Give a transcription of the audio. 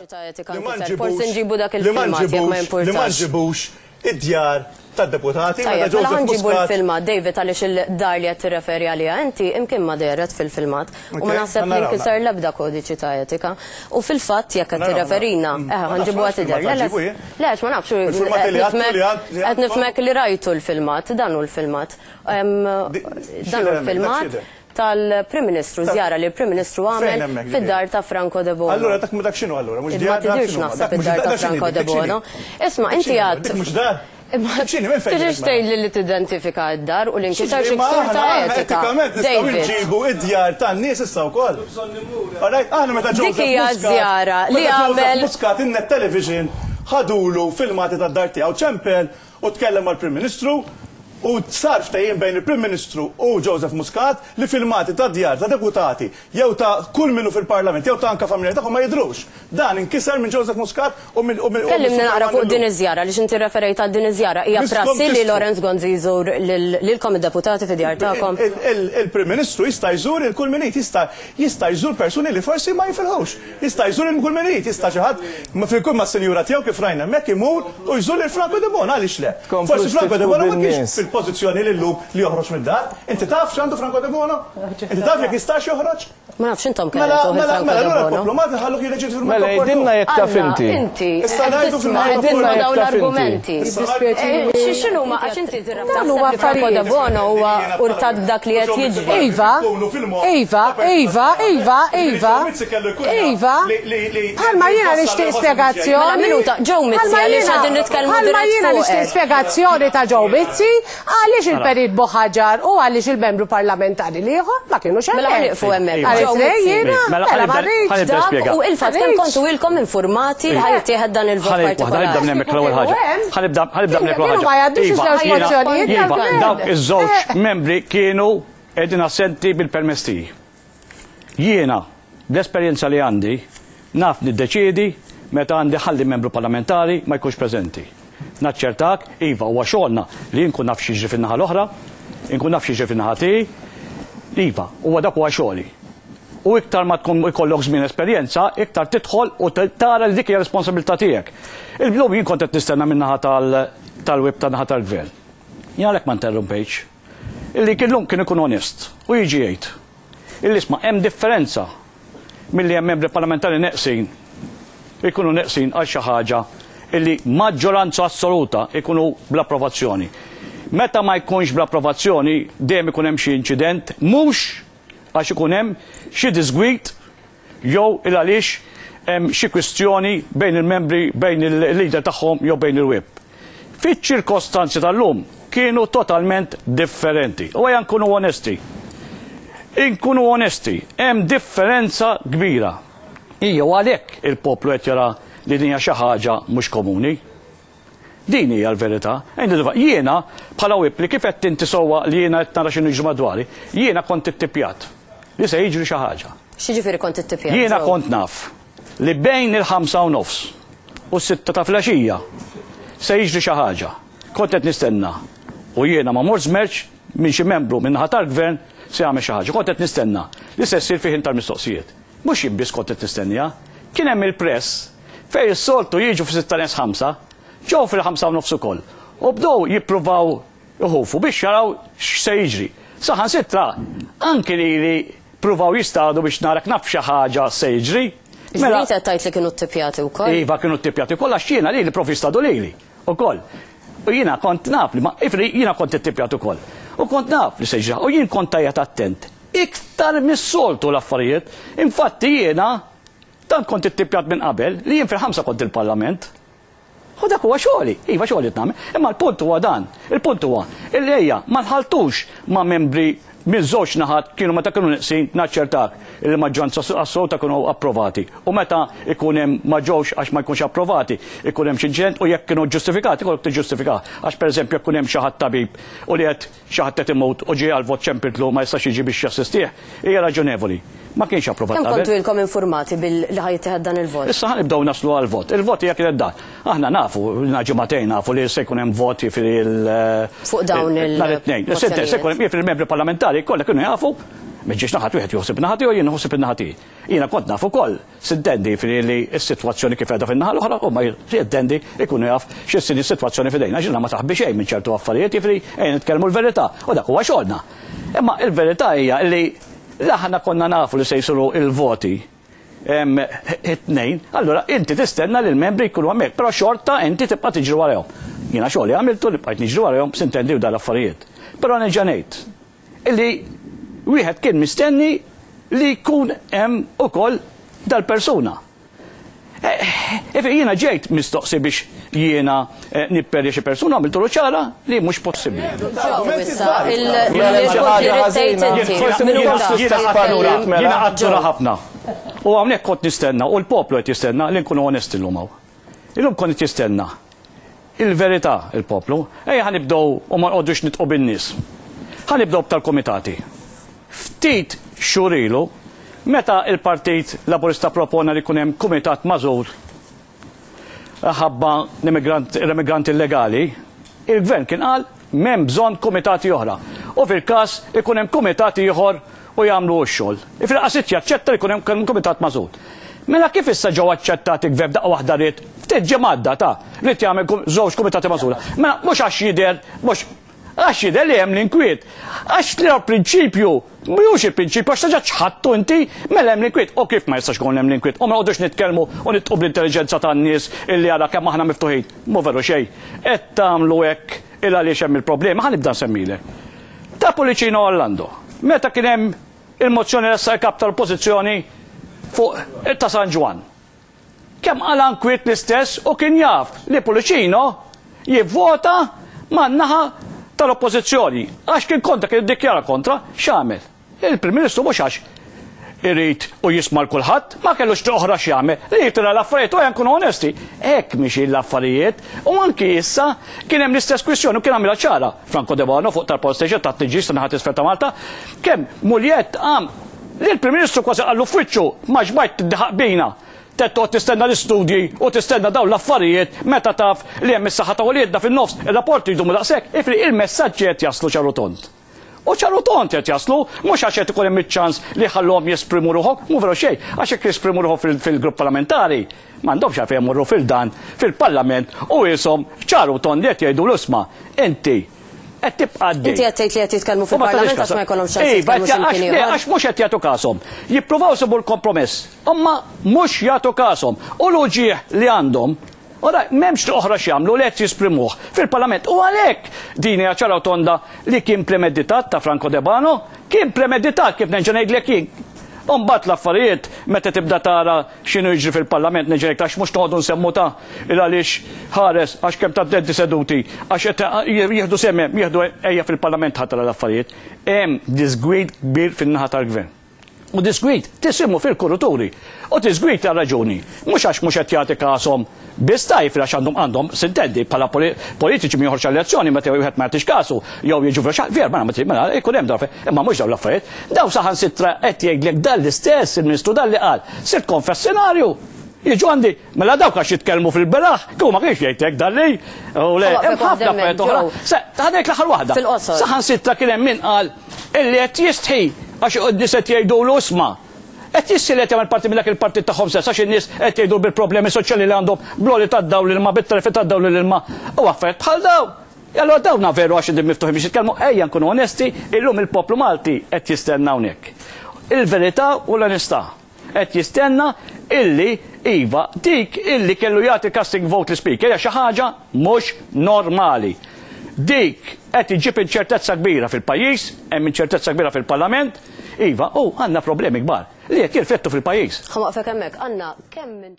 Ta' etika nkiser. Forsi nġibu dak il-filmat jekk ma Li ma jimpurtax. nġibux id-djar tad-deputati meta Tajjeb, mela Joseph ħa nġibu Muscat l-filmat, David, għaliex il-dar li qed tirreferi għaliha inti imkien ma dehret fil-filmat. U ma Ok, naħseb ħa li naraw, nkiser l-ebda kodiċi ta' etika. U fil-fatt jekk qed Naraw, tirreferina, naraw. eħe Ma ħa nafx, nġibuha ma nafx tidher. filmat Le, le, ħa nġibu jien. le, għax ma nafx, Il-filmat qed li għadtu nifhmek li għad- li qed għadkom? nifhmek li rajtu l-filmat, dan hu l-filmat. Em, Di- Dan hu x'idher hemmhekk, dak l-filmat x'idher? tal-Prim Ministru, żjara li l-Prim Ministru Fejn għamel hemmhekk ġifieri? fid-dar ta' Franco Debono. Allura dak dak x'inhu allura? Mhux Ma djar dak tidirx x'inhu? naħseb Dak mhux id-dar dak ta' x'inhi Franco dik? Dik x'inhi? Debono. Isma' Dik inti x'inhi? għad Dik mhux dar? Imma Dik x'inhi? Minn fejn tiġix ġiet mela? tgħidli li tidentifika d-dar u li nkisar xi Ma ksur aħna ta' aħna etika. etikament nistgħu David. nġibu id-djar tan-nies issa wkoll. Alright, aħna meta Dik Joseph hija Muscat, żjara li meta Joseph għamel Muscat in-Net Television ħadulu filmati tad-dar tiegħu ċempel u tkellem mal-Prim Ministru u sar ftehim bejn il-Prim Ministru u Joseph Muscat li filmati ta' djar ta' deputati jew ta' kull minnu fil-Parlament jew ta' anka familja tagħhom ma jidhrux. Dan inkiser minn Joseph Muscat u minn u minn u Kellimni mis-Sur naqra fuq Giovanni din Llu. iż-żjara għaliex inti referejt għal din iż-żjara. Hija Miskom prassi li tistħu. Lawrence Gonzi jżur lil- lilkom id-deputati fid-djar tagħkom? Il-Prim Ministru jista' jżur il kull min irid, jista' jista' jżur persuni li forsi ma jifilħux. Jista' jżur il kull min irid, jista' xi ħadd ma fil-kull mas-sinjura tiegħu kif rajna hemmhekk imur u jżur lil Franco Debono, għaliex le? Tkomplux Forsi Franco titfu Debono ma kienx bin-nies. fil-pożizzjoni li llum li joħroġ mid-dar. Inti taf x'għandu Franco Debono? Inti taf jekk jistax joħroġ? Ma nafx intom Mela, kellimtu mela, Franco mela, allura Debono. l-poplu Malti ħallu jiddeċiedi fil-mument Mela, opportun. għidilna jekk taf Alla, inti. inti Issa qed ngħidu tisma' fil-mument qed tisma' opportun. dawn Jekk taf inti. l-argumenti. Jiddispjaċini. X'inhu ma għax inti Dawn huma taħseb li Franco affarijiet. Debono huwa urtat b'dak li qed jiġri. Iva, Iva, Iva, Iva, Iva, Iva, bħalma jiena nixtieq spjegazzjoni. Mela, minuta, Joe Mizzi, Bħalma għaliex jiena- qegħdin nitkellmu Bħalma dirett jiena fuqek. nixtieq spjegazzjoni ta' Joe Mizzi għaliex il-Perit Buhagiar u għaliex il-membru parlamentari l-ieħor ma kienux Mela hemmhekk. ħa nieqfu hemmhekk. Għaliex Joe le Mizzi. jiena, Mela, mela ħa nibda- ma rridx. ħa nibda Dak nispjega. u il-fatt kemm kontu ilkom informati li ħa jittieħed dan il-vot Ħa nibda ħa nibda minn partikolari. hemmhekk l-ewwel ħaġa. Ħa nibda ħa nibda minn hemmhekk l-ewwel Kienu ma ħaġa. jgħaddux Iva, iż-żewġ jiena- mozzjonijiet Iva, tal-gvern. dawk iż-żewġ membri kienu qegħdin assenti bil-permess tiegħi. Jiena, bl-esperjenza li għandi, naf niddeċiedi meta għandi ħalli membru parlamentari ma jkunx preżenti. Naċċertak, iva, huwa xogħolna li nkun naf x'jiġri fin-naħa l-oħra, inkun naf x'jiġri fin-naħa tiegħi, iva, huwa dak huwa xogħli. U iktar ma tkun ikollok żmien esperjenza, iktar tidħol u tara li dik hija responsabilità tiegħek. Il-lum jien kont qed nistenna min-naħa tal-whip tan-naħa tal-gvern. Jien għalhekk ma interrompejx. Illi kien lum kien ikun onest u jiġi jgħid. Illi isma' hemm differenza milli hemm membri parlamentari neqsin ikunu neqsin għal xi ħaġa illi maġġoranza assoluta ikunu bl-approvazzjoni. Meta ma jkunx bl-approvazzjoni dejjem ikun hemm xi inċident mhux għax ikun hemm xi disgwit jew il għaliex hemm xi kwistjoni bejn il-membri bejn il-leader tagħhom jew bejn il-whip. Fiċ-ċirkostanzi tal-lum kienu totalment differenti. U ejja nkunu onesti. Inkunu onesti, hemm differenza kbira. Ija u għalhekk il-poplu qed jara li din hija xi ħaġa mhux komuni. Din hija l-verità. Jiena bħala whip li kif qed inti sewwa li jiena qed nara x'inhu jiġri madwari, jiena kont ittipjat li se jiġri xi ħaġa. X'jiġifieri kont ittipjat? Jiena Joe? kont naf li bejn il-5:30 u s-6 ta' filgħaxija se jiġri xi ħaġa. Kont qed nistenna u jiena ma mort żmerċ minn xi membru minn naħa tal-gvern se jagħmel xi ħaġa. Kont qed nistenna li se ssir fi ħin tal-mistoqsijiet. Mhux jien biss kont qed nistennija. Kien hemm il-press fejn is-soltu jiġu fi 4:55, ġew fil-5:30 ukoll. U bdew jippruvaw iħufu biex jaraw x'se jiġri. Saħansitra anki li li pruvaw jistadu biex narak naf xi ħaġa se jiġri. Mela qed tgħid li kienu ttipjati wkoll? Iva kienu ttipjati wkoll għax jiena li li provi jistadu lili ukoll. U jiena kont naf li ma ifri jiena kont ittipjat ukoll. U kont naf li se jiġri u jien kont tajjeb attent. Iktar mis-soltu l-affarijiet. Infatti jiena tant kont ittipjat minn qabel li jien fil-5 kont il-Parlament. U dak huwa xogħli, iva xogħli qed nagħmel. Imma l-punt huwa dan, il-punt huwa illi ejja ma nħaltux ma' membri minn żewġ naħat kienu meta kienu neqsin naċċertak il maġġoranza assoluta kienu approvati. U meta ikun hemm ma ġewx għax ma jkunx approvati, ikun hemm xi inċident u jekk kienu ġustifikati ikollok tiġġustifika. Għax pereżempju jekk ikun hemm xi ħadd tabib u li qed xi ħadd qed imut u ġie għal vot ċempiltlu ma jistax jiġi biex jassistih, hija raġunevoli. Ma kienx approvat Kemm qabel. kontu ilkom informati bil li ħa jittieħed dan il-vot? Issa ħa nibdew naslu għal vot. Il-vot hija kienet dan. Aħna nafu, ilna ġimagħtejn nafu li se jkun hemm voti fil Fuq dawn il- nhar it-tnejn. Se mozzjonijiet. jkun hemm jiġifieri il-membri parlamentari kollha kienu jafu. Miġiex naħat wieħed joħsib naħa tiegħu jien nħossib in-naħa tiegħi. Jiena kont naf ukoll, sintendi jiġifieri li s-sitwazzjoni kif qiegħda fin-naħa l-oħra huma jintendi jkunu jaf x'inhi s-sitwazzjoni f'idejna għax jiena ma taħbi xejn minn ċertu affarijiet jiġifieri ejja nitkellmu l-verità u dak huwa xogħolna. Imma l-verità hija li aħna konna nafu li se jsiru l-voti it-tnejn, allura inti tistenna li l-membri jkunu hemmhekk, però xorta inti tibqa' tiġri warajhom. Jiena xogħli għamiltu li bqajt niġri warajhom sintendi u dal-affarijiet. Però nerġa' ngħid illi wieħed kien mistenni li jkun hemm ukoll dal-persuna. Jiena ġejt mistoqsi biex jiena nipperja xi persuna għamiltulu ċara li mhux possibbli. Jiena qattura ħafna. U hawnhekk kont nistenna u l-poplu qed jistenna li nkunu onesti llum hawn. Illum kont qed jistenna il-verità il-poplu. Ejja ħa nibdew u ma nqogħdux nitqu bin-nies. Ħa nibdew b'tal-kumitati. Ftit xhur ilu, meta l-Partit Laburista propona li jkun hemm kumitat magħżul ħabba l-immigranti illegali, il-Gvern kien qal m'hemm bżonn kumitati oħra. U fil-każ ikun hemm kumitat ieħor u jagħmlu hu x-xogħol. Jiġifieri qas irid jaċċetta li jkun hemm kumitat magħżul. Mela kif issa ġew aċċettati gvern f'daqqa waħda ried ftit ġimgħat data ried jagħmel żewġ kumitati magħżula. Mela mhux għax jidher mhux għax jidher li hemm l-inkwiet. Għax li prinċipju mhux il-prinċipju għax terġa' ċħadtu inti mela hemm l-inkwiet. U kif ma jistax ikun hemm l-inkwiet? U ma noqogħdux nitkellmu u nitqu bl-intelliġenza tan-nies illi ara kemm aħna miftuħin. Mhu veru xejn. Qed tagħmlu hekk il għaliex hemm il-problema. Ħa nibda nsemmilek. Ta' Pullicino Orlando. Meta kien hemm il-mozzjoni ressaq il-Kap tal-Oppożizzjoni fuq ta' San Ġwann. Kemm qala nkwiet l-istess u kien jaf li Pullicino jivvota man-naħa tal-Oppożizzjoni għax kien kontra, kien iddikjara kontra, x'għamel? Il-Prim Ministru mhux għax irid u jisma' 'l kulħadd, ma kellux triq oħra x'jagħmel, li jitira l-affarijiet u ejja nkunu onesti, hekk mixjin l-affarijiet u anki issa kien hemm l-istess kwistjoni u kien għamilha ċara Franco Debono fuq tal-Power Station tat-tniġġis tan-naħa t'isfel ta' Malta, kemm Mugliett qam li l-Prim Ministru kważi qallu f'wiċċu ma xbajt tiddaħaq bina. Trid toqgħod tistenna l-istudji u tistenna dawn l-affarijiet meta taf li hemm is-saħħa ta' uliedna fin-nofs, ir-rapporti jdumu daqshekk, ifri il-messaġġi qed jaslu ċar u tond. U ċar u tond qed jaslu, mhux għax qed ikun hemm iċ-ċans li jħalluhom jesprimu ruħhom, mhu veru xejn, għax jekk jesprimu ruħhom fil-grupp parlamentari, m'għandhomx għalfejn imorru fil-dan, fil-Parlament u qishom ċar u tond li qed jgħidulu isma' inti qed tibqa' għaddej. Inti qed tgħid li qed jitkellmu fil-Parlament għax ma jkollhomx ċans jitkellmu xi mkien ieħor. Iva, għax mhux qed jagħtu kashom. Jippruvaw isibu l-kompromess, imma mhux jagħtu kashom. U l-uġigħ li għandhom Ora, m'hemmx triq oħra x'jagħmlu li qed jisprimuh fil-Parlament. U għalhekk din hija ċara u tonda li kien premeditat ta' Franco Debano, kien premeditat kif nerġa' ngħidlek jien. U mbagħad l-affarijiet meta tibda tara x'inhu jiġri fil-Parlament nerġa' ngħidlek għax mhux noqogħdu nsemmu ta' il għaliex ħares għax kemm tattendi seduti għax qed jieħdu sehem hemm jieħdu ejja fil-Parlament ħa tara l-affarijiet. Hemm diżgwid kbir fin-naħa tal-Gvern. U disgwid tisimgħu fil-kuruturi. U disgwid għal raġuni. Mhux għax mhux qed jagħti kashom biss tajjeb għax għandhom għandhom sintendi bħala politiċi min joħroġ għall-elezzjoni meta wieħed ma jagħtix kasu jew jiġu fil ver mela mela jkun hemm dawn imma mhux dawn l-affarijiet. Dawn saħansitra qed jgħidlek dan l-istess il-Ministru Dalli qal sirt konfessinarju jiġu għandi mela dawk għax jitkellmu fil-beraħ kieku ma kienx jgħid hekk Dalli. U le hemm ħafna affarijiet oħra. Ħa ngħid l-aħħar waħda. Saħansitra kien hemm min qal Illi qed jistħi għax in-nies qed jgħidulu isma'. Qed jissielet jagħmel parti minn dak il-partit tagħhom stess għax in-nies qed jgħidu bil-problemi soċjali li għandhom bl-għoli tad-dawl l-ilma bit-tariffi tad-dawl u l-ilma u affarijiet bħal dawn. Allura dawna veru għax qegħdin miftuħin biex jitkellmu, ejja nkunu onesti, illum il-poplu Malti qed jistenna hawnhekk. Il-verità u l-onestà. Qed jistenna illi, iva, dik illi kellu jagħti casting vote l-Ispeaker hija xi ħaġa mhux normali. Dik qed iġġib inċertezza kbira fil-pajjiż, hemm inċertezza kbira fil-Parlament, iva, u għandna problemi kbar li qed jirflettu fil-pajjiż. Ħa waqfek hemmhekk. Anna, kemm minn.